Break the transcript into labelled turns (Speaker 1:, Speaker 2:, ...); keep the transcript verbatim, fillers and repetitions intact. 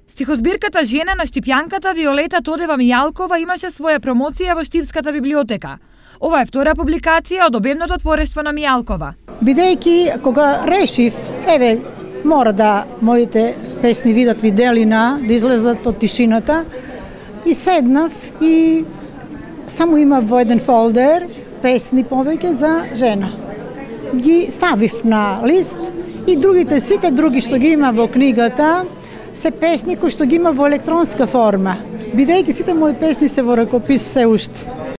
Speaker 1: Стихозбирката Жена на штипјанката Виолета Тодева Мијалкова имаше своја промоција во Штипската библиотека. Ова е втора публикација од обемното творештво на Мијалкова.
Speaker 2: Бидејќи кога решив, еве, мора да моите песни видат виделина, да излезат од тишината, и седнав и само имав во еден фолдер песни повеќе за жена. Ги ставив на лист и другите, сите други што ги има во книгата, се песни кои што ги има во електронска форма. Бидејќи сите мои песни се во ракопис се уште.